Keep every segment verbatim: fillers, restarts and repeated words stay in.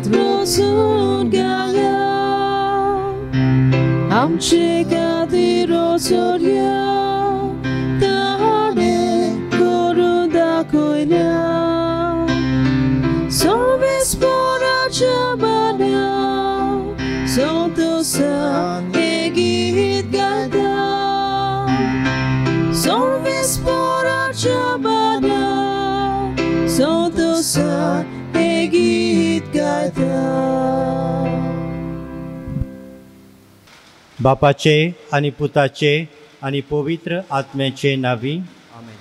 रोसून गाया आमचे खातीर रोसोल्या ताणें करून दाखयल्या सर्वेस्पराच्या मना संतोषान हें गीत गायता सर्वेस्पराच्या मना संतोषान हें गीत गायता. बापाचे आनी पुताचे आनी पवित्र आत्म्याचे नांवी आमेन.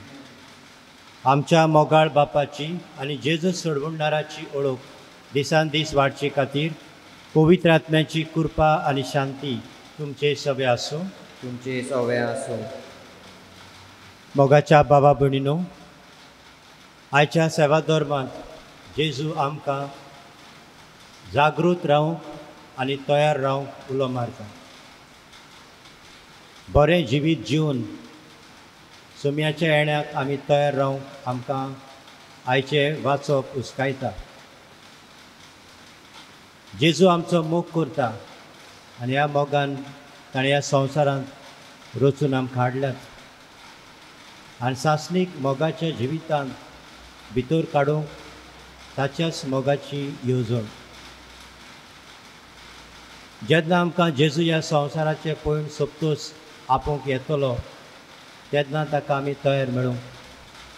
आमच्या मोगाळ बापाची आनी जेजू सोडवणदाराची ओळख दिसान दीस वाडचे खातीर पवित्र आत्म्याची कृपा आनी शांती तुमचे सवे आसूं. तुमचे सवे आसूं. मोगाच्या बाबा भयणीनो, आयच्या सेवा धर्मांत जेजू आमकां जागृत रावंक आनी तयार रावंक उलो मारता. बरें जिवीत जिवन सोम्याच्या येण्याक आमी तयार रावंक आमकां आयचें वाचप उस्कायता. जेजू आमचो मोग करता आनी ह्या मोगान ताणें ह्या संवसारांत रचून आमकां हाडल्यात आनी सासणीक मोगाच्या जिवितांत भितर काडूंक ताच्याच मोगाची येवजण. जेन्ना आमकां जेजू ह्या संवसाराचें पळोवन सोंपतूच आपोवंक येतलो तेन्ना ताका आमी तयार मेळूंक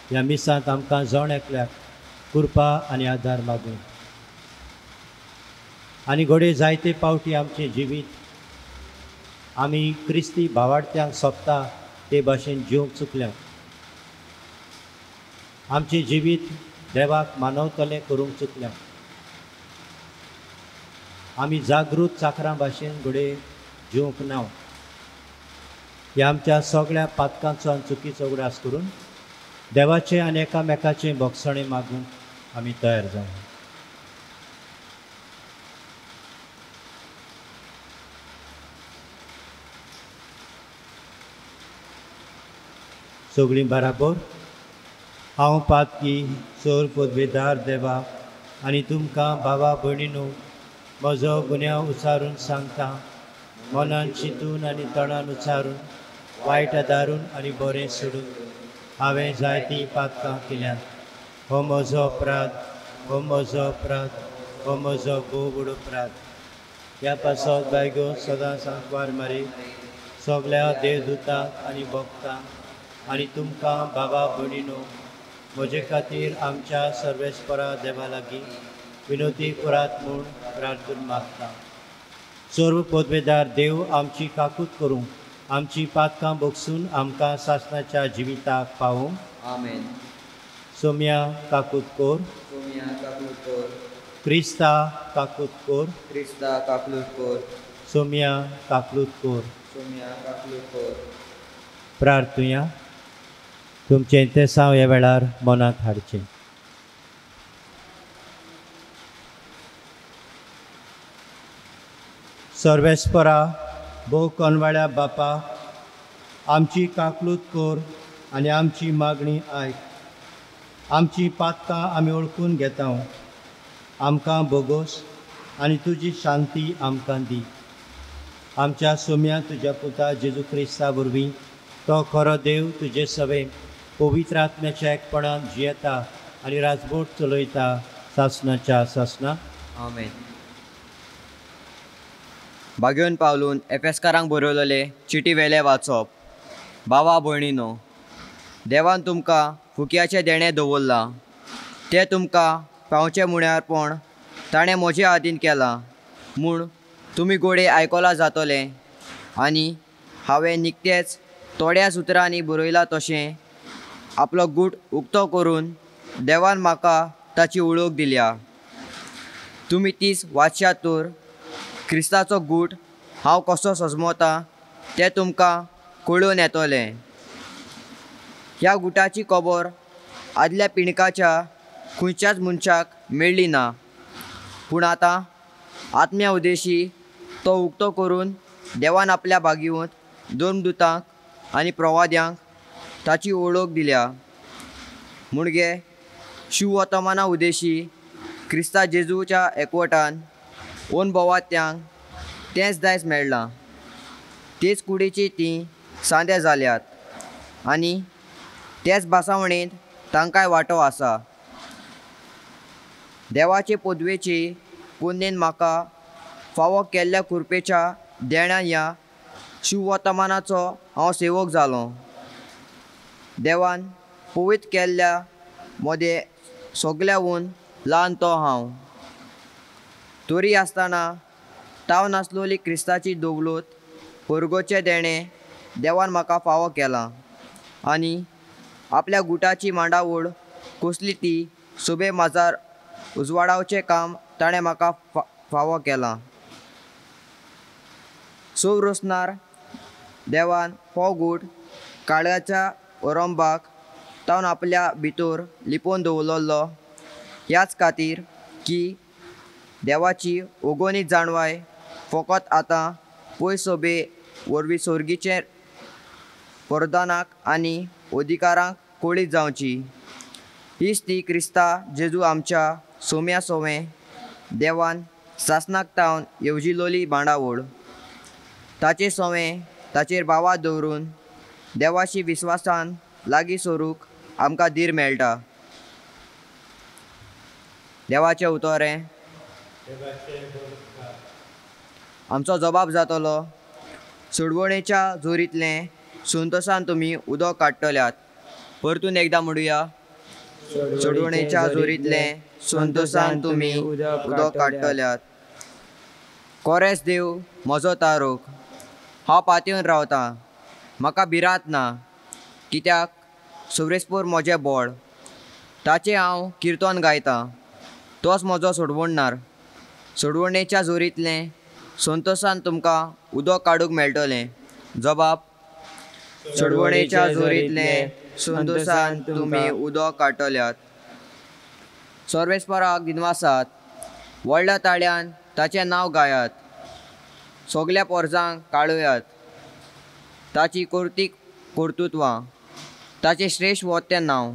ह्या मिसांत आमकां जण एकल्याक कृपा आनी आदार मागूं. आनी घडये जायते पावटी आमचें जिवीत आमी क्रिस्ती भावार्थ्यांक सोंपता ते भाशेन जिवंक चुकल्यात. आमचें जिवीत देवाक मानवतलें करूंक चुकल्यात. आमी जागृत चाकरां भाशेन घडये जिवंक ना. ह्या आमच्या सगळ्या पातकांचो आनी चुकीचो उगडास करून देवाचें आनी एकामेकाचें भोगसणें मागूंक आमी तयार जावं. सगळीं बराबर हांव पातकी चोर पदवेदार देवा आनी तुमकां भावा भयणीनो म्हजो गुन्यांव उचारून सांगता. मनान चिंतून आनी तणान उचारून वायट आदारून आनी बरें सोडून हांवें जायतीं पातकां केल्यांत. हो म्हजो अपराध, हो म्हजो अपराध, हो म्हजो भोव व्हड अपराध. ह्या पासत बायगो सदां सांकवार मारी सगळ्या देवदूतांक आनी भक्तांक आनी तुमकां बाबा भयणीनो म्हजे खातीर आमच्या सर्वेस्परा देवा लागीं विनोती करात म्हूण प्रार्थना मागता. सर्व पदवेदार देव आमची काकूत करूंक आमची पातकां भोगसून आमकां सासणाच्या जिविताक पावूंक. आमेन. सोम्या काकूत कोर, सोम्या काकूत कोर, क्रिस्ता काकूत कोर, क्रिस्ता काकूत कोर, सोम्या काकूत कोर, सोम्या काकूत कोर. प्रार्थुया. तुमचें तेसांव ह्या वेळार मनांत हाडचें. सर्वेस्परा भोव कोनवाळ्या बापा, आमची काकलूत कोर आनी आमची मागणी आयक. आमची पातकां आमी वळखून घेता. आमकां बोगोस आनी तुजी शांती आमकां दी. आमच्या सोम्या तुज्या पुता जेजू क्रिस्ता वरवीं तो खरो देव तुजे सवे पवित्र आत्म्याच्या एकपणान जियेता आनी राजबोट चलयता सासणाच्या सासणा. आमेन. बागेवन पावलून एफेस्कारांक बरयलेले चिटी वेले वाचप. बाबा भयणीनो, देवान तुमकां फुकयाचें देणें दवरलां तें तुमकां पावचें म्हण्यारपण ताणें म्हजे हातीन केलां म्हूण तुमी गोडे आयकलां जातलें. आनी हांवें निकतेंच थोड्या सुत्रांनी बरयलां तशें आपलो गूट उक्तो करून देवान म्हाका ताची वळख दिल्या. तुमी तीच वाचशात तर क्रिस्ताचो गूट हांव कसो सजमोता तें तुमकां कळून येतलें. ह्या गुटाची खबर आदल्या पिणकाच्या खंयच्याच मनशाक मेळ्ळी ना, पूण आतां आत्म्या उद्देशी तो उक्तो करून देवान आपल्या भागीवंत दोन दुतांक आनी प्रवाद्यांक ताची वळख दिल्या. मुणगे शिववर्तमाना उद्देशी क्रिस्ता जेजूच्या एकवटान ओनभोवात्यांक तेंच दायज मेळ्ळां. तेच कुडीची तीं सांदे जाल्यात आनी तेच भासावणेंत तांकांय वांटो आसा. देवाचे पदवेची पुण्येन म्हाका फावो केल्ल्या कृपेच्या देण्यान ह्या शुभवर्तमानाचो हांव सेवक जालो. देवान पवित्र केल्ल्या मदें सगल्याहून ल्हान तो हांव. तरी आसतना ताव नासलोली क्रिस्ताची दवलत परगोचें देणें देवान म्हाका फावो केलां आनी आपल्या गुटाची मांडावळ कसली ती सोबे माजार उजवाडावचें काम ताणें म्हाका फावो केलां. सो रोसनार देवान हो गूट काळ्याच्या ओरंबाक तावन आपल्या भितर लिपोवन दवरलो ह्याच खातीर की देवाची ओगोनी जाणवाय फकत आतां पयस सोबे वरवीं सोर्गीचे वरदानाक आनी अधिकारांक कळीत जावची. हीच ती क्रिस्ता जेजू आमच्या सोम्या सोवें देवान सासनाक तावन येवजिलोली बांडावळ. ताचे सोवें ताचेर भावा दवरून देवाशी विस्वासान लागीं सरूंक आमकां धीर मेळटा. देवाचें उतोरें आमचो जबाब जातलो. सोडवणेच्या जोरींतलें संतोसान तुमी उदक काडटल्यात. परतून एकदां म्हणुया, सोडवणेच्या जोरींतलें संतोसान तुमी उदक काडटल्यात. कोरेस देव म्हजो तारोक, हांव पातयेवन रावतां, म्हाका भिरांत ना, कित्याक सोरेस्पोर म्हजें बळ, ताचें हांव किर्तन गायतां, तोच म्हजो सोडवणणार. सोडवणेच्या जोरींतलें संतोसान तुमकां उदक काडूंक मेळटलें. जबाब, सोडवणेच्या जोरींतलें संतोसान तुमी उदक काडटल्यात. सर्वेस्पराक दिनवासात, व्हडल्या ताळ्यान ताचें नांव गायात, सगल्या पोरजांक काडुयात ताची कर्तीक कर्तृत्वां, ताचें श्रेश्ठ वतें नांव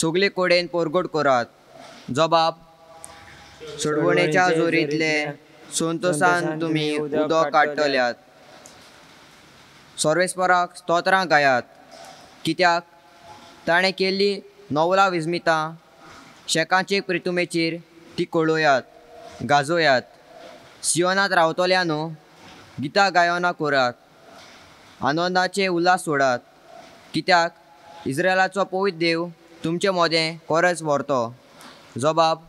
सगले कडेन परगट करात. जबाब, सोडवणेच्या जोरींतलें संतोसान तुमी उदक काडटल्यात. सर्वेस्पराक स्तोत्रां गायात, कित्याक ताणें केल्ली नवला विस्मितां शेकाचे प्रितुमेचेर ती कळोयात, गाजोयात. सियोनांत रावतल्यानो गितां गायनां करात, आनंदाचे उल्हास सोडात, कित्याक इस्रायलाचो पवित्र देव तुमचे मदें कोरस व्हरतो. जबाब,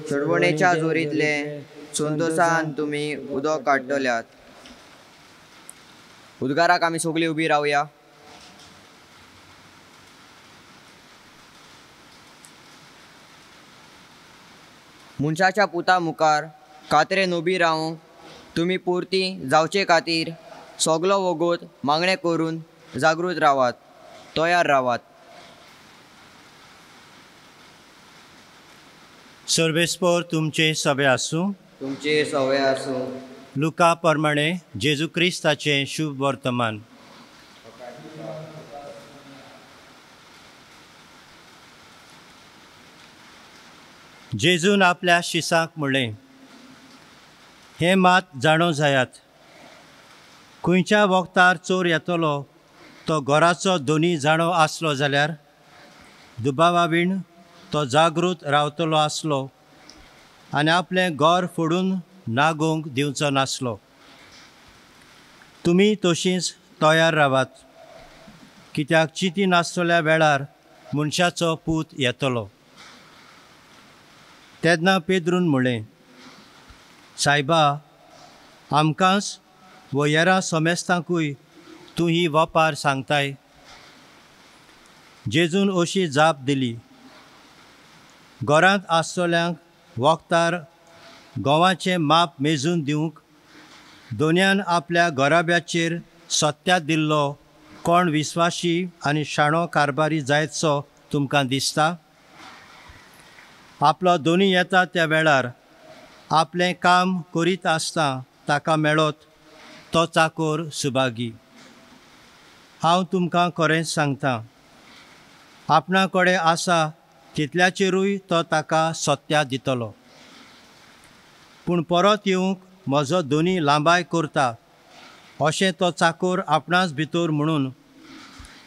सोडवणेच्या जोरींतलें संतोसान तुमी उदक काडटल्यात. उद्गाराक आमी सगळीं उबी रावया. मनशाच्या पुता मुखार कातरेन उबी रावंक तुमी पुरती जावचे खातीर सगलो वगत मागणें करून जागृत रावात, तयार रावात. सर्वेस्पोर तुमचे सवे आसूं. तुमचे सवे आसूं. लुका प्रमाणे जेजू क्रिस्ताचें शुभ वर्तमान. जेजून आपल्या शिसांक म्हणलें, हें मात जाणो जायात, खंयच्या वखतार चोर येतलो तो घराचो दोनी जाणो आसलो जाल्यार दुबावा वीण तो जागृत रावतलो आसलो आनी आपलें घर फोडून नागोवंक दिवचो नासलो. तुमी तशींच तयार रावात, कित्याक चिंती नासतल्या वेळार मनशाचो पूत येतलो. तेन्ना पेद्रून म्हणलें, सायबा, आमकांच वो हेरां समेस्तांकूय तूं ही वपार सांगताय? जेजून अशी जाप दिली, घरांत आसतल्यांक वखतार गंवाचें माप मेजून दिवंक दोनयान आपल्या घराब्याचेर सत्या दिल्लो कोण विस्वाशी आनी शाणो कारभारी जायतसो तुमकां दिसता? आपलो दोनी येता त्या वेळार आपलें काम करीत आसता ताका मेळत तो चाकोर सुभागी. हांव तुमकां खरेंच सांगता, आपणा कडेन आसा तितल्याचेरूय तो ताका सत्या दितलो. पूण परत येवंक म्हजो दोनी लांबाय करता अशें तो चाकोर आपणाच भितर म्हणून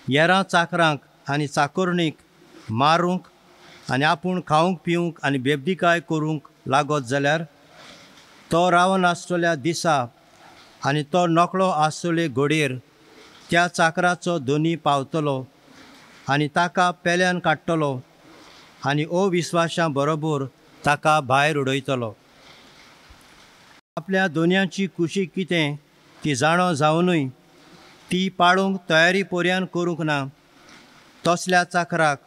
येरां चाकरांक आनी चाकोरणीक मारूंक आनी आपूण खावंक पिवंक आनी बेबदीकाय करूंक लागत जाल्यार तो रावन आसतल्या दिसा आनी तो नकळो आसतले घडयेर त्या चाकराचो दोनी पावतलो आनी ताका पेल्यान काडटलो आनी अविस्वाशां बरोबर ताका भायर उडयतलो. आपल्या दोनयांची कुशी कितें ती जाणो जावनूय ती पाळूंक तयारी पर्यान करूंक ना तसल्या चाकराक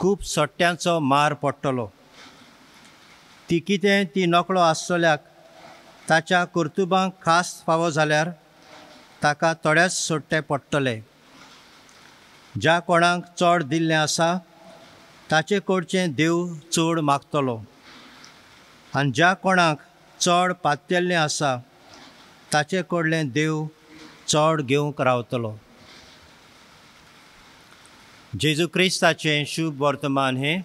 खूब सट्ट्यांचो मार पडटलो. ती कितें ती नकळो आसतल्याक ताच्या कर्तुबांक खास फावो जाल्यार ताका थोडेच सोडटे पडटले. ज्या कोणाक चड दिल्लें आसा ताचे कडचें देव चड मागतलो आनी ज्या कोणाक चड पातयल्लें आसा ताचे कडलें देव चड घेवंक रावतलो. जेजू क्रिस्ताचें शुभ वर्तमान हें.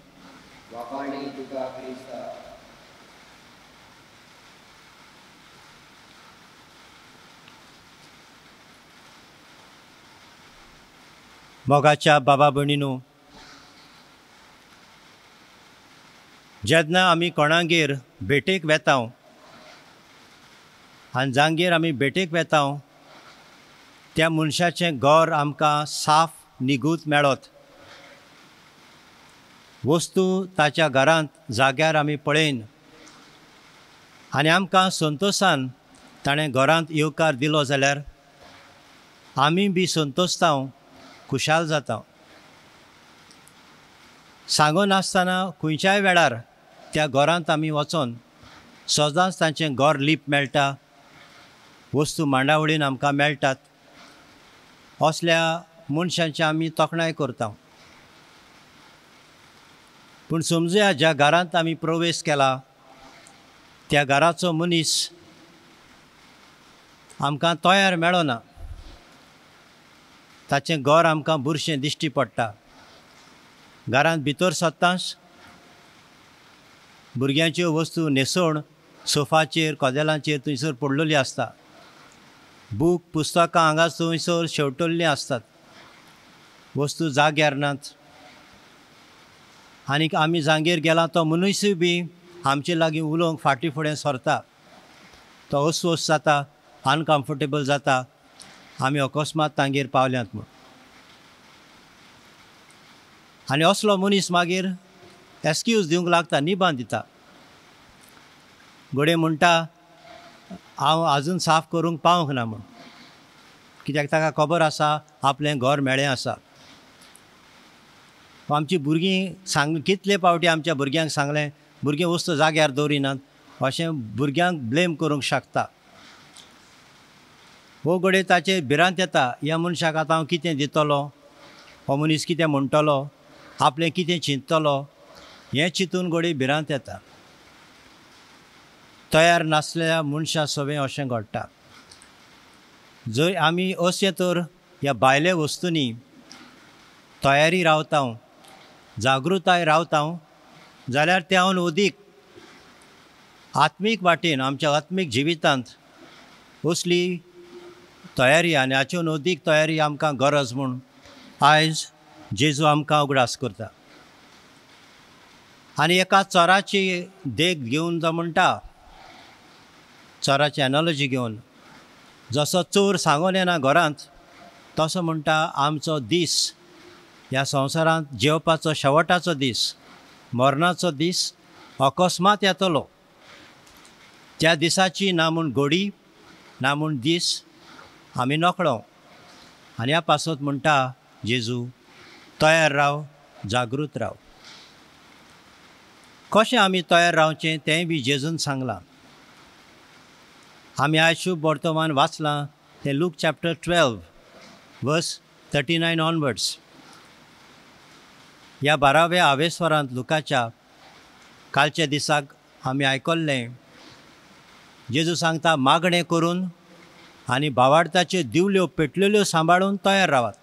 मोगाच्या बाबा भयणीनो, जेन्ना आमी कोणागेर भेटेक वेता आनी जांगेर आमी भेटेक वेता त्या मनशाचें घर आमकां साफ निगूत मेळत, वस्तू ताच्या घरांत जाग्यार आमी पळयन आनी आमकां संतोशान ताणें घरांत येवकार दिलो जाल्यार आमी बी संतोशता, खुशाल जाता. सांगनासतना खंयच्याय वेळार त्या घरांत आमी वचोन सदांच तांचें घर लीप मेळटा, वस्तू मांडावळीन आमकां मेळटात. असल्या मनशांची आमी तोखणाय करता. पूण समजुया ज्या घरांत आमी प्रवेश केला त्या घराचो मनीस आमकां तयार मेळना, ताचें घर आमकां बुरशें दिश्टी पडटा. घरांत भितर सरतांच भुरग्यांच्यो वस्तू न्हेसवण सोफाचेर कदेलांचेर थंयसर पडलेली आसता, बूक पुस्तकां हांगा थंयसर शेंवटल्लीं आसतात, वस्तू जाग्यार नात. आनीक आमी जांगेर गेला तो मनीसूय बी आमचे लागीं उलोवंक फाटीं फुडें सरता, तो अस्वस्थ जाता, अनकम्फर्टेबल जाता आमी अकस्मात तांगेर पावल्यात म्हूण. आनी असलो मनीस मागीर एक्सक्यूज दिवंक लागता, निबान दिता. घडये म्हणटा हांव आजून साफ करूंक पावंक ना म्हूण, कित्याक ताका खबर आसा आपलें घर मेळें आसा. आमची भुरगीं सांग कितले पावटी आमच्या भुरग्यांक सांगलें भुरगीं वस्तू जाग्यार दवरिनात अशें भुरग्यांक ब्लेम करूंक शकता. हो घडये ताचेर भिरांत येता, ह्या मनशाक आतां हांव कितें दितलो, हो मनीस कितें म्हणटलो, आपलें कितें चिंततलो, हें चिंतून घडये भिरांत येता. तयार नासल्या मनशा सवें अशें घडटा. जर आमी अशें तर ह्या भायल्या वस्तूंनी तयारी रावता, जागृताय रावता जाल्यार त्याहून अदीक आत्मीक वाटेन आमच्या आत्मीक जिवितांत असली तयारी आनी हाचेन अदीक तयारी आमकां गरज म्हूण आयज जेजू आमकां उगडास करता. आनी एका चोराची देख घेवन तो म्हणटा, चोराची एनोलॉजी घेवन, जसो चोर सांगून येना घरांत तसो म्हणटा आमचो दीस ह्या संवसारांत जेवपाचो शेवटाचो दीस, मरणाचो दीस अकस्मात येतलो. त्या दिसाची ना म्हूण घडी ना म्हूण दीस आमी नकळो. आनी ह्या पासत म्हणटा जेजू तयार राव, जागृत राव. कशें आमी तयार रावचें तेंय बी जेजून सांगलां. आमी आयज शुभ वर्तमान वाचलां तें Luke chapter twelve verse thirty nine onwards. ह्या बाराव्या आवेस्वरांत लुकाच्या कालच्या दिसाक आमी आयकल्लें जेजू सांगता मागणें करून आनी भावार्थाच्यो दिवल्यो पेटलेल्यो सांबाळून तयार रावात.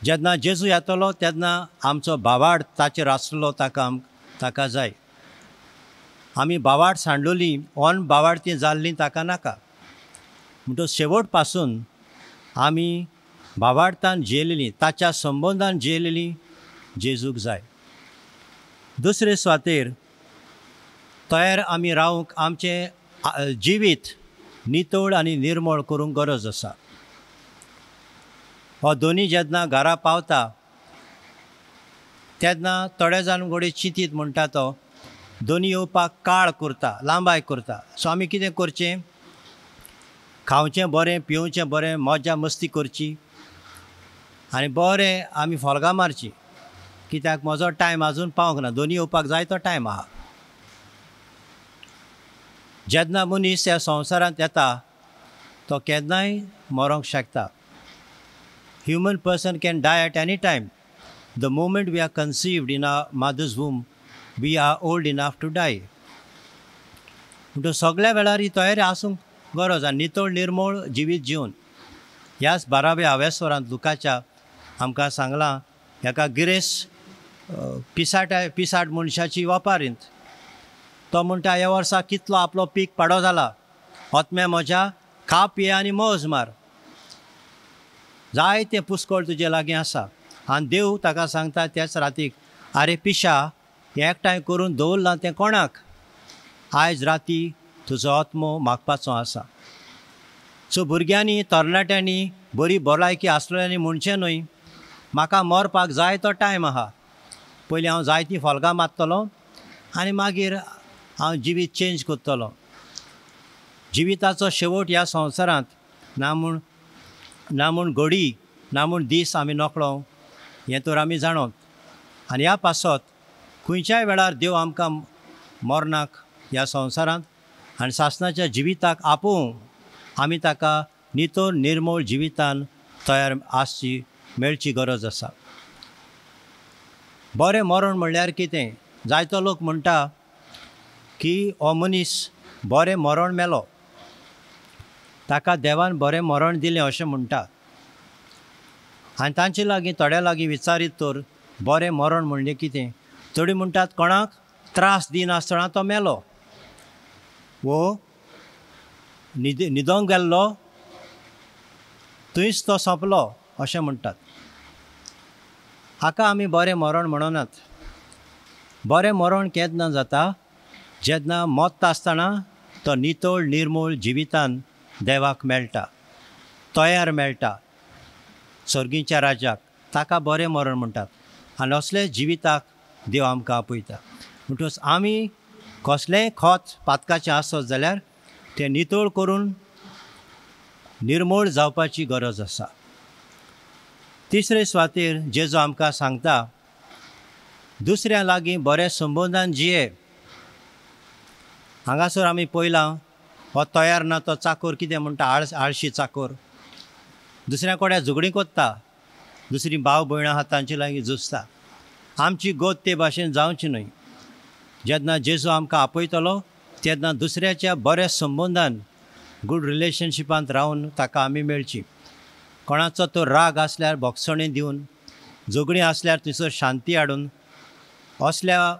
जेन्ना जेजू येतलो तेन्ना आमचो भावार्थ ताचेर आसलो ताका ताका जाय. आमी भावार्थ सांडलोली ऑन भावार्थी जाल्ली ताका नाका. म्हणटकच शेवट पासून आमी भावार्थान जियेलेली, ताच्या संबंदान जियेलेली जेजूक जाय. दुसरे सुवातेर तयार आमी रावंक आमचें जिवीत नितळ आनी निर्मळ करूंक गरज आसा. हो दोनी जेन्ना घरा पावता तेन्ना थोडे जाण घोडे चिंतीत म्हणटा तो दोनी येवपाक काळ करता, लांबाय करता. सो आमी कितें करचें? खावचें बरें, पिवचें बरें, मजा मस्ती करची आनी बरें आमी फोल्गां मारची, कित्याक म्हजो टायम आजून पावंक ना, दोनी येवपाक जाय तो टायम आहा. जेन्ना मनीस ह्या संवसारांत येता तो केन्नाय मरोंक शकता. Human person can die at any time. The moment we are conceived in our mother's womb, we are old enough to die. म्हणटकच सगळ्या वेळार ही तयारी आसूंक गरज आनी नितळ निर्मळ जिवीत जिवन. ह्याच बाराव्या हावेस्वरांत लुकाच्या आमकां सांगलां हेका गिरेस पिसाट पिसाट मनशाची वपारींत. तो म्हणटा ह्या वर्सा कितलो आपलो पीक पाडो जाला, आत्म्या म्हज्या खा पिये आनी मौज मार, जायतें पुस्कळ तुजे लागीं आसा. आनी देव ताका सांगता त्याच रातीक, आरे पिशा, हें एकठांय करून दवरलां तें कोणाक? आयज राती तुजो आत्मो मागपाचो आसा. सो भुरग्यांनी, तरणाट्यांनी, बरी भलायकी आसलेल्यांनी म्हणचें न्हय म्हाका मरपाक जाय तो टायम आहा, पयलीं हांव जायतीं फोल्गां मारतलो आनी मागीर हांव जिवीत चेंज करतलो. जिविताचो शेवट ह्या संवसारांत ना म्हूण ना म्हूण घडी ना म्हूण दीस आमी नकळो हें तर आमी जाणोत. आनी ह्या पासत खंयच्याय वेळार देव आमकां मरणाक ह्या संवसारांत आनी सासणाच्या जिविताक आपोवं आमी ताका नितळ निर्मळ जिवितान तयार आसची मेळची गरज आसा. बरें मरण म्हणल्यार कितें? जायतो लोक म्हणटा की हो मनीस बरें मरण मेलो, ताका देवान बरें मरण दिलें अशें म्हणटा. आनी तांचे लागीं थोड्या लागीं विचारीत तर बरें मरण म्हणलें कितें? थोडी म्हणटात कोणाक त्रास दिनासतना तो मेलो, वो न्हिद न्हिदोंक गेल्लो थंयच तो सोंपलो अशें म्हणटात. हाका आमी बरें मरण म्हणनात. बरें मरण केन्ना जाता? जेन्ना मरता आसतना तो नितळ निर्मळ जिवितान देवाक मेळटा, तयार मेळटा सर्गीच्या राज्याक, ताका बरें मरण म्हणटात. आनी असले जिविताक देव आमकां आपयता. म्हणटकच आमी कसलेंय खत पातकाचें आसत जाल्यार तें नितळ करून निर्मळ जावपाची गरज आसा. तिसरे सुवातेर जेजू आमकां सांगता दुसऱ्या लागीं बऱ्या संबंदान जिये. हांगासर आमी पळयलां हो तयार ना तो चाकोर कितें म्हणटा, आळ आळशी चाकोर दुसऱ्या कडेन झगडीं कोत्ता, दुसरी भाव भयणां आहा तांचे लागीं झुजता. आमची गोत ते भाशेन जावची न्हय. जेन्ना जेजू आमकां आपयतलो तेन्ना दुसऱ्याच्या बऱ्या संबंदान गूड रिलेशनशिपांत रावन ताका आमी मेळची. कोणाचो तो राग आसल्यार भोगसणें दिवन, झगडीं आसल्यार थंयसर शांती हाडून, असल्या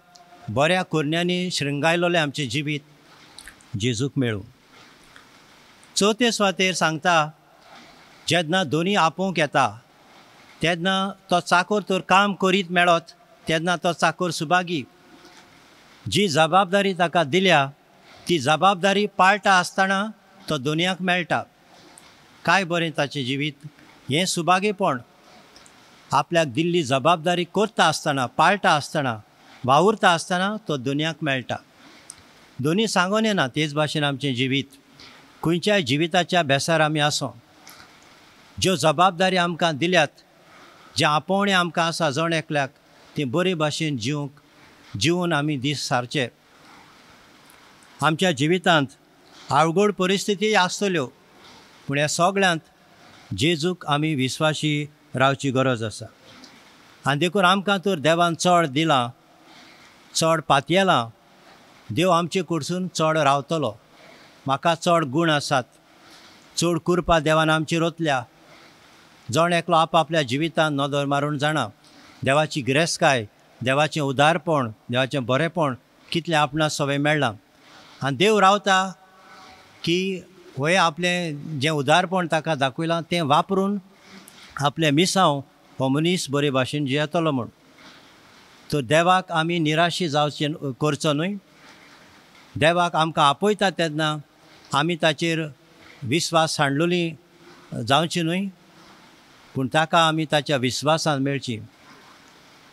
बऱ्या करण्यांनी शृंगायलोलें आमचें जिवीत जेजूक मेळूं. चवथे सुवातेर सांगता जेन्ना दोनी आपोवंक येता तेन्ना तो चाकोर तर काम करीत मेळत तेन्ना तो चाकोर सुभागी. जी जबाबदारी ताका दिल्या ती जबाबदारी पाळटा आसतना तो दोनयांक मेळटा. काय बरें ताचें जिवीत, हें सुभागीपण. आपल्याक दिल्ली जबाबदारी करता आसतना, पाळटा आसतना, वावुरता आसतना तो दोनयांक मेळटा. दोनी सांगून येना. तेच भाशेन आमचें जिवीत खंयच्याय जिविताच्या बेसार आमी आसों, ज्यो जबाबदारी आमकां दिल्यात, जें आपोवणें आमकां आसा जण एकल्याक, तें बरे भाशेन जिवंक जिवन आमी दीस सारचे. आमच्या जिवितांत अवघड परिस्थिती आसतल्यो, पूण ह्या सगळ्यांत जेजूक आमी विस्वाशी रावची गरज आसा. आनी देखून आमकां तर देवान चड दिलां, चड पातयेलां, देव आमचे कडसून चड रावतलो. म्हाका चड गूण आसात, चड कुरपा देवान आमची रोतल्या, जण एकलो आपआपल्या जिवितान नदर मारून जाणा देवाची गिरेस्तकाय, देवाचें उदारपण, देवाचें बरेंपण कितलें आपणा सवय मेळ्ळां. आनी देव रावता की होय आपलें जें उदारपण ताका दाखयलां तें वापरून आपलें मिसांव हो मनीस बरे भाशेन जियेतलो म्हूण. तर देवाक आमी निराशी जावचें करचो न्हय. देवाक आमकां आपयता तेन्ना आमी ताचेर विस्वास सांडलोली जावची न्हय, पूण ताका आमी ताच्या विस्वासान मेळची.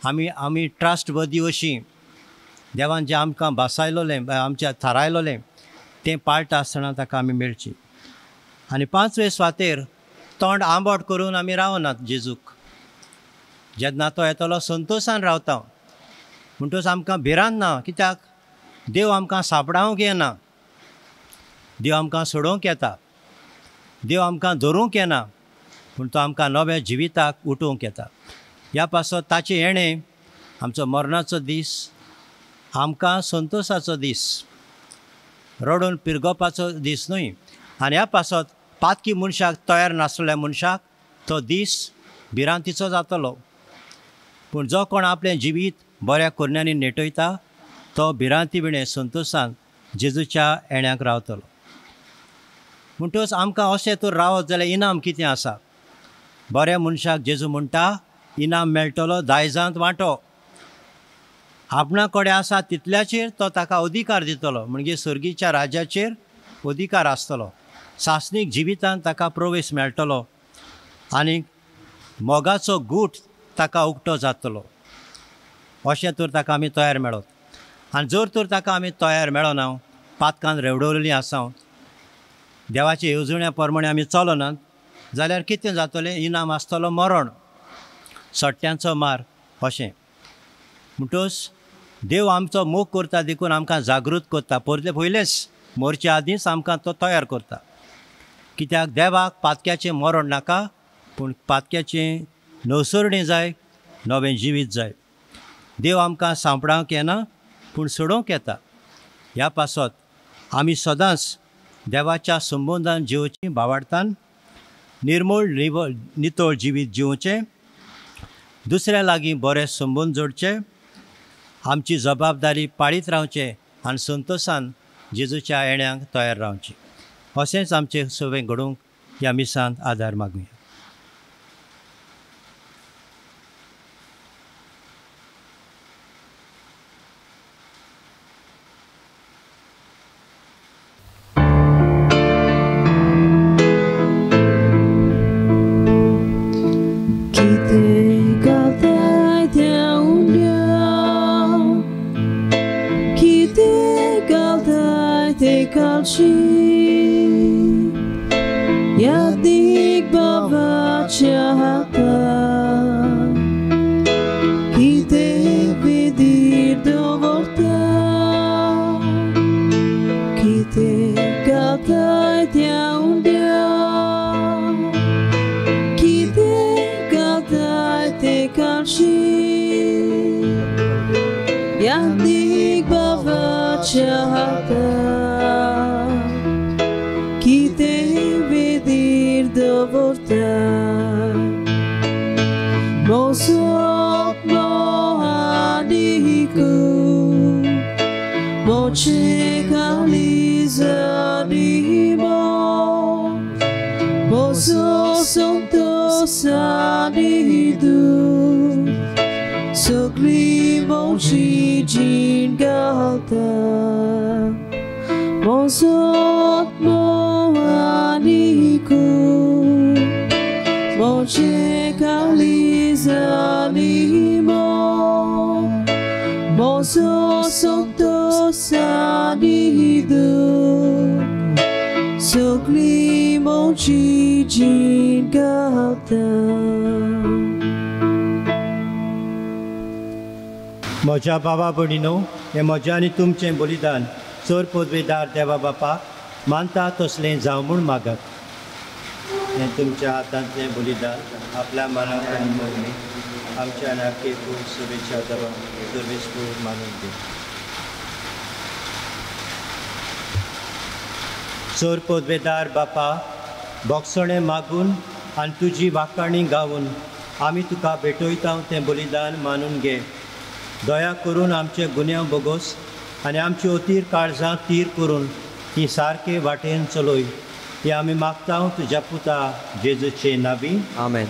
आमी आमी ट्रस्ट वर्दी अशी देवान जें आमकां भासायलोलें, आमच्या थारायलोलें तें पाळटा आसतना ताका आमी मेळची. आनी पांचवे सुवातेर तोंड आंबट करून आमी रावनात जेजूक. जेन्ना तो येतलो संतोशान रावता. म्हणटकच आमकां भिरांत ना, कित्याक देव आमकां सापडावंक येना, देव आमकां सोडोवंक येता, देव आमकां धरूंक येना, पूण तो आमकां नव्या जिविताक उठोवंक येता. ह्या पासत ताचें येणें आमचो मरणाचो दीस आमकां संतोशाचो दीस, रडून पिरगोवपाचो दीस न्हय. आनी ह्या पासत पातकी मनशाक, तयार नासलेल्या मनशाक तो दीस भिरांतीचो जातलो. पूण जो कोण आपलें जिवीत बऱ्या करण्यांनी नेटयता तो भिरांती विणें संतोशान जेजूच्या येण्याक रावतलो. म्हणटकच आमकां अशें तर रावत जाल्यार इनाम कितें आसा? बऱ्या मनशाक जेजू म्हणटा इनाम मेळटलो दायजांत वांटो. आपणा कडेन आसा तितल्याचेर तो ताका अधिकार दितलो, म्हणजे सर्गीच्या राज्याचेर अधिकार आसतलो. सासणीक जिवितांत ताका प्रवेश मेळटलो आनी मोगाचो गूट ताका उक्तो जातलो. अशें तर ताका आमी तयार मेळत. आनी जर तर ताका आमी तयार मेळना, पातकान रेवडवलेलीं आसा, देवाचे येवजण्या प्रमाणे आमी चलनात जाल्यार कितें जातलें? इनाम आसतलो मरण, सट्ट्यांचो मार अशें. म्हणटकच देव आमचो मोग करता देखून आमकां जागृत करता. परते पयलेंच मरचे आदींच आमकां तो तयार करता. कित्याक देवाक पातक्याचें मरण नाका, पूण पातक्याचें नवसरणी जाय, नवें जिवीत जाय. देव आमकां सांपडावंक येना पूण सोडोवंक येता. ह्या पासत आमी सदांच देवाच्या संबंदान जिवचीं, भावार्थान निर्मळ निवळ नितळ जिवीत जिवचें, दुसऱ्या लागीं बरे संबंद जोडचे, आमची जबाबदारी पाळीत रावचें आनी संतोशान जेजूच्या येण्याक तयार रावचें. अशेंच आमचें सगळें घडोवंक ह्या मिसांत आदार मागुया. Yadik baba chahata Kite vidir dovorta Kite galtai tiaundia Kite galtai te kalchi Yadik baba chahata Kite vidir dovorta Mosot moadiku Moche kalizanimo Mozo santo sanidu Sogli mochi jingalta Mozot moaniku Moche kalizanimo Mozo santo sanidu Sogli mochi jingalta. म्हज्या बाबा भयणीनो, हें म्हजें आनी तुमचें बलिदान चड पदवेदार देवा बापा मानता तसलें जावं म्हूण मागात. हें तुमच्या हातांतलें बलिदान आपल्या मनाक आनी मोगणी आमच्या नाके शुभेच्छा देवा सर्वेस्पूर मानून दी. चड पदवेदार बापा बोगसणें मागून आनी तुजी वाखाणी गावन आमी तुका भेटयता तें बलिदान मानून घे. दया करून आमचे गुन्यांव बोगोस आनी आमची अतीर काळजां तीर करून ती सारके वाटेन चलय. ती आमी मागता तुज्या पुता जेजूचे नावी. आमेन.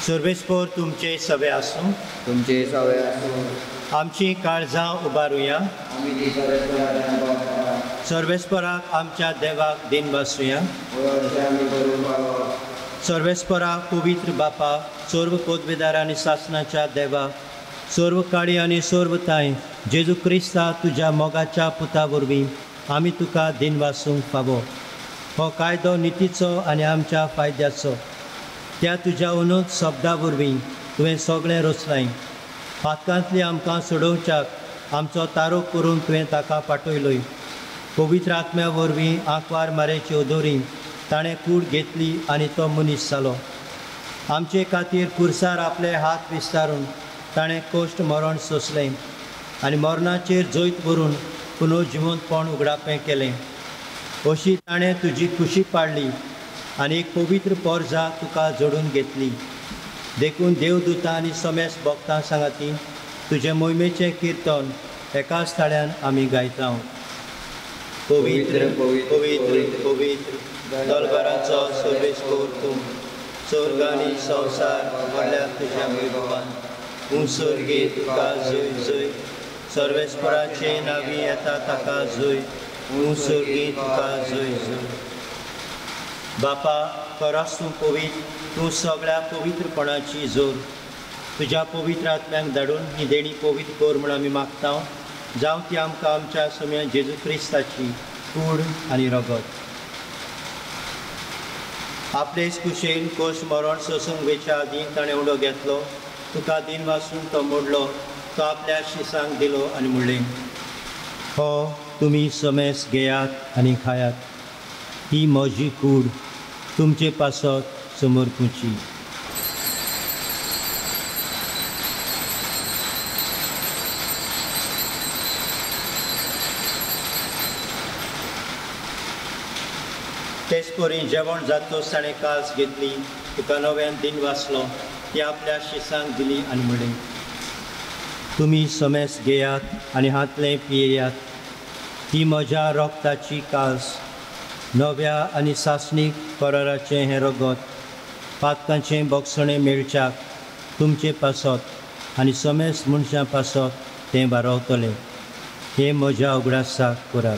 सर्वेस्पोर तुमचे सवे आसूं. तुमचे सवे आसूं. आमची काळजां उबारुया. सर्वेस्पराक आमच्या देवाक दिन बसुया. सर्वेस्पराक पवित्र बापा, सर्व पदवेदार आनी सासनाच्या देवा, सर्व काळी आनी सर्व ताय जेजू क्रिस्ता तुज्या मोगाच्या पुता वरवीं आमी तुका दिन वासूंक फावो. हो कायदो नितीचो आनी आमच्या फायद्याचो. त्या तुज्या अनूत शब्दा वरवीं तुवें सगळें रचलाय. पातकांतली आमकां सोडोवच्याक आमचो तारो करून तुवें ताका पाठयलोय. पवित्र आत्म्या वरवीं आंकवार मारेची ओदोरी ताणें कूड घेतली आनी तो मनीस जालो. आमचे खातीर कुर्सार आपले हात विस्तारून ताणें कश्ट मरण सोंसलें आनी मरणाचेर जैत व्हरून पुनर्जिवंतपण उगडापें केलें. अशी ताणें तुजी खुशी पाडली आनी एक पवित्र पोरजा तुका जोडून घेतली. देखून देवदूतां आनी समेस भक्तां सांगाती तुजे मोहिमेचें किर्तन एकाच थाळ्यान आमी गायता. पवित्र पवित्र पवित्र दलबाराचो सर्वेस्पोर तूं, स्वर्ग आनी संवसार भरल्या तुज्या वैभवान. तूं स्वर्गी तुका जय जय, सर्वेस्पराचे नावी येता ताका जय. तूं स्वर्गी तुका जय जय. बापा, खरोच तूं पवित्र, तूं सगळ्या पवित्रपणाची जोर. तुज्या पवित्र आत्म्यांक धाडून ही देणी पवित्र कर म्हूण आमी मागता. जावं ती आमकां आमच्या सम्या जेजू क्रिस्ताची कूड आनी रगत. आपलेच कुशेन कोश मरण सोसूंक वेच्या आदीं ताणें उडो घेतलो, तुका दिन वासून तो मोडलो, तो आपल्या शिसांक दिलो आनी म्हणलें, हो तुमी समेस घेयात आनी खायात. ही म्हजी कूड तुमचे पासत समर्पूची. तेच परी जेवण जातकच ताणें कास घेतली, तुका नव्यान दिन वाचलो, ती आपल्या शिसांक दिली आनी म्हणलें, तुमी समेस घेयात आनी हातलें पियेयात. ही म्हज्या रक्ताची कास, नव्या आनी सासणीक कराराचें हें रगत पातकांचें बोगसणें मेळच्याक तुमचे पासत आनी समेस मनशां पासत तें बारवतलें. हें म्हज्या उगडासाक करात.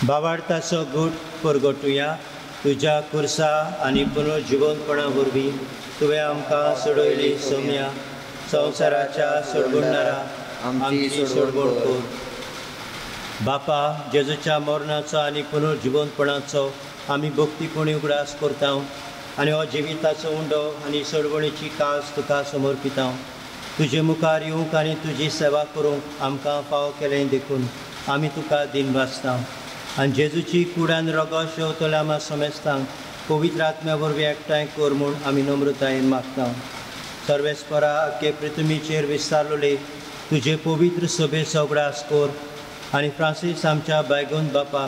बाबार्थाचो गूट परगटुया. तुज्या कुर्सा आनी पुनर्जिवंतपणा वरवीं तुवें आमकां सोडयली सोम्या, संवसाराच्या सोडवणारा आमची सोडवण कर. बापा, जेजूच्या मरणाचो आनी पुनर्जिवंतपणाचो आमी भक्तीपणी उगडास करता आनी हो जिविताचो उंडो आनी सोडवणीची कास तुका समर्पिता. तुजे मुखार येवंक आनी तुजी सेवा करूंक आमकां फावो केलें देखून आमी तुका दिन वाचता. आनी जेजूची कुडान रगत शेवतल्या आमा समेस्तांक पवित्र आत्म्या वरवीं एकठांय कर म्हूण आमी नम्रतायेन मागता. सर्वेस्परा, आख्खे पृथ्वीचेर विस्तारलेले तुजे पवित्र सभेचो उगडास कर आनी फ्रांसीस आमच्या बायगून बापा,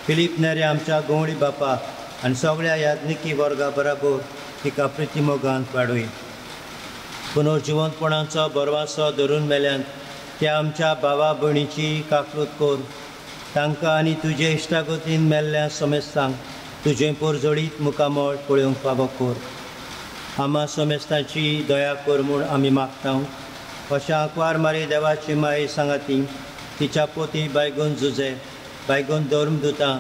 फिलीप नेरे आमच्या गवळी बापा आनी सगळ्या याज्ञिकी वर्गा बराबर तिका प्रितीमोगांत वाडय. पुनर्जिवंतपणाचो बरवासो धरून मेल्यान त्या आमच्या भावा भयणीची काकळूत कर. तांकां आनी तुजे इश्टागतीन मेल्ल्या समेस्तांक तुजें पोरजोळीत मुखामळ पळोवंक फावो कर. आमा समेस्तांची दया कर म्हूण आमी मागता. अशें आंकवार मारी देवाची माये सांगाती तिच्या पोती बायगून जुजे, बायगून धर्मदुतां,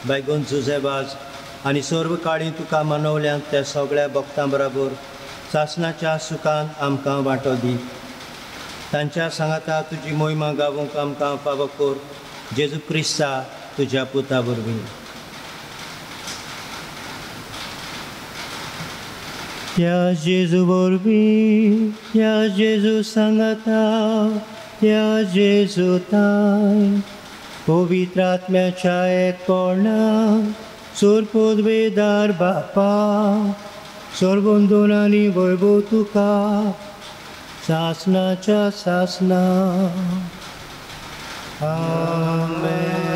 बायगून जुजे वाज आनी सर्व काळी तुका मनवल्यात त्या सगळ्या भक्तां बराबर सासणाच्या सुखान आमकां वांटो दी. तांच्या सांगाता तुजी मोहिमा गावूंक आमकां फावो कर. जेजू क्रिस्ता तुज्या पुता वरवीं. त्या जेजू वरवीं, त्या जेजू सांगाता, त्या जेजू ताय पवित्र आत्म्याच्या एकपणा सोर पदवेदार बापा सर्वंदून आनी वैभव तुका सासनाच्या सासना. आमेन.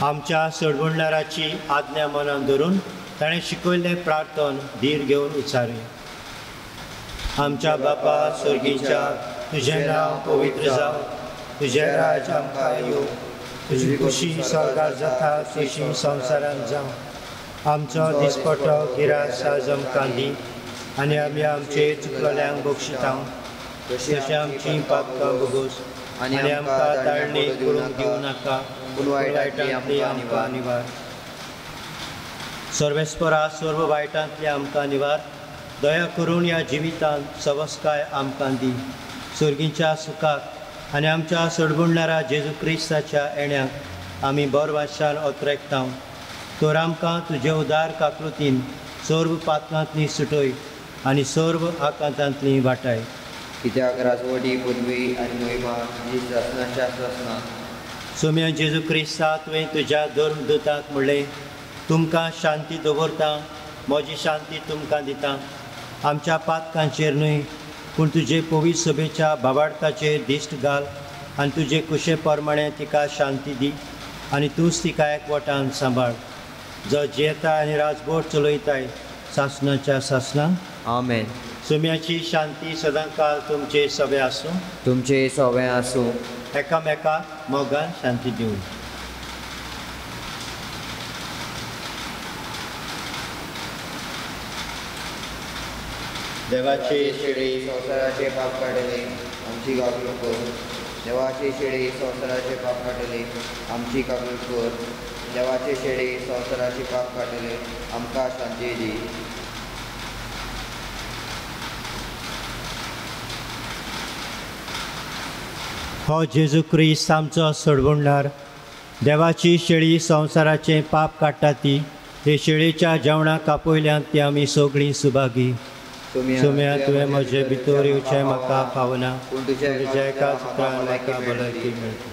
आमच्या सोडवणदाराची आज्ञा मनान धरून ताणें शिकयल्लें प्रार्थन धीर घेवन उच्चारुया. आमच्या बापा स्वर्गीच्या, तुजें नांव पवित्र जावं, तुजें राज्य आमकां येवं, तुजी खुशी स्वर्गार जाता तशी संवसारांत जावं. आमचो दिसपटो गिरास आज आमकां दी आनी आमी आमचे चुकलेल्यांक बक्षिता तशें आमची पापकां भोगोस आनी आमकां ताळणी करूंक दिवं नाका, पूण वायटांतली आमकां निवार. सर्वेस्परा सर्व वायटांतली आमकां निवार, दया करून ह्या जिवितांत सवस्काय आमकां दी. सर्गीच्या सुखाक आनी आमच्या सोडवणदारा जेजू क्रिस्ताच्या येण्याक आमी बरवाशान ओत्रेकता. तर आमकां तुजे उदार काकृतीन सर्व पातकांतली सुटय आनी सर्व आकांतांतली वाटाय. कित्याक राजवटी पदवी आनी महिमा जी सासनाच्या सासना. सोम्या जेजू क्रिस्ता, तुवें तुज्या धर्मदूताक म्हणलें, तुमकां शांती दवरता, म्हजी शांती तुमकां दिता. आमच्या पातकांचेर न्हय पूण तुजे पवित्र सभेच्या भावार्थाचेर दिश्ट घाल आनी तुजे कुशे प्रमाणे तिका शांती दी आनी तूंच तिका एकवटान सांबाळ, जो जियेता आनी राजभोर चलयताय सासनाच्या सासना. आमेन. सोम्याची शांती सदांकाल तुमचे सवे आसूं. तुमचे सवे आसूं. एकामेकाक मोगान शांती दिवं. देवाचे शेळी संवसाराचे पाप काडले आमची काकूट कर. देवाचे शेळी संवसाराचे पाप काडले आमची काकूट कर. देवाचे शेळी संवसाराचे पाप काडले आमकां शांती दी. हो जेजू क्रिस्त आमचो सोडवणदार, देवाची शेळी संवसाराचें पाप काडटा ती हे शेळीच्या जेवणाक कापयल्यान ती आमी सगळीं सुभागी. सोम्या, तुवें म्हजे भितर येवचें म्हाका फावना, पूण तुज्या एकाच उतरान म्हाका भलायकी मेळटा.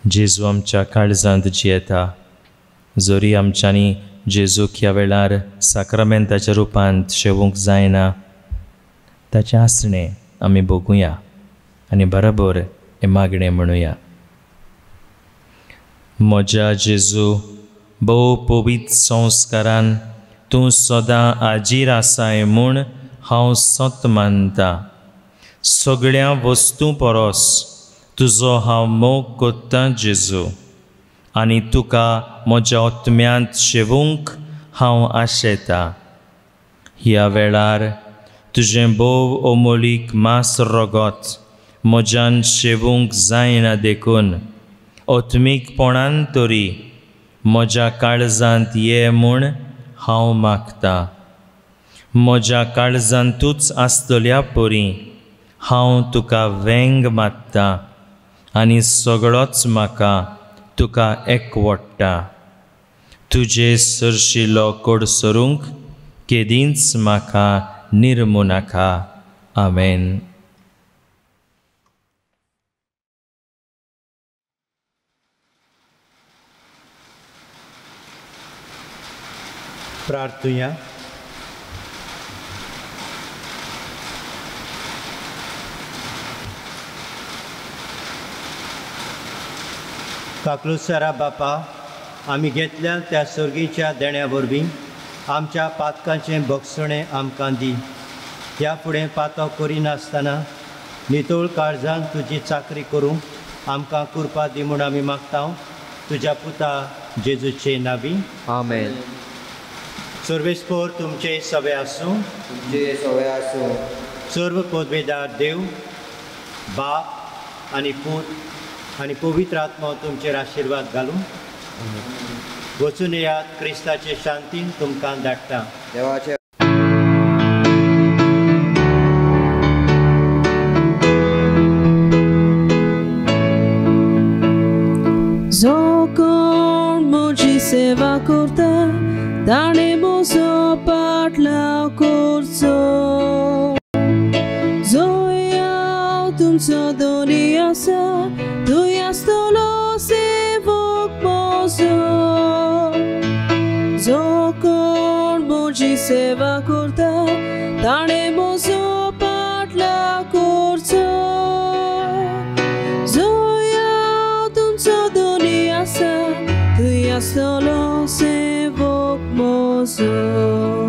जेजू आमच्या काळजांत जियेता. जरी आमच्यांनी जेजूक ह्या वेळार साक्रामेंताच्या रुपांत शेवूंक जायना, ताचें आसणें आमी भोगुया आनी बरोबर हें मागणें म्हणुया. म्हज्या जेजू, भोव पवित्र संस्कारान तूं सदां आजीर आसाय म्हूण हांव सत मानता. सगळ्या वस्तूं परस तुजो हांव मोग कोत्तां जेजू, आनी तुका म्हज्या आत्म्यांत शेवूंक हांव आशेतां. ह्या वेळार तुजें भोव अमोलीक मांस रगत म्हज्यान शेवूंक जायना देखून आत्मीकपणान तरी म्हज्या काळजांत ये म्हूण हांव मागता. म्हज्या काळजांतूच आसतल्या परी हांव तुका वेंग मारता आनी सगळोच म्हाका तुका एकवट्टा. तुजे सरशिलो कोडसरूंक केदींच म्हाका निर्मू नाका. आमेन. प्रार्थुया. काकलुसारा बापा, आमी घेतल्या त्या सर्गीच्या देण्या वरवीं आमच्या पातकांचें भोगसणें आमकां दी. ह्या फुडें पातक करिनासतना नितळ काळजान तुजी चाकरी करूंक आमकां कृपा दी म्हूण आमी मागता तुज्या पुता जेजूचे नावी. आमेन. सर्वेस्पोर तुमचे सवे आसूं. तुमचे सवे आसूं. सर्व पदवेदार देव बाप आनी पूत आनी पवित्र आत्मो तुमचेर आशिर्वाद घालूं. वचून येयात, क्रिस्ताचे शांतीन तुमकां धाडटा. देवाचे जो कोण म्हजी सेवा करता ताणें म्हजो पाटलाव करचो. जंय हांव तुमचो धनी आसा थंय आसतलो सेवक म्हजो. जो कोण म्हजी सेवा करता ताणें म्हजो पाटलाव करचो. जंय हांव तुमचो धनी आसा थंय आसतलो सेवक म्हजो.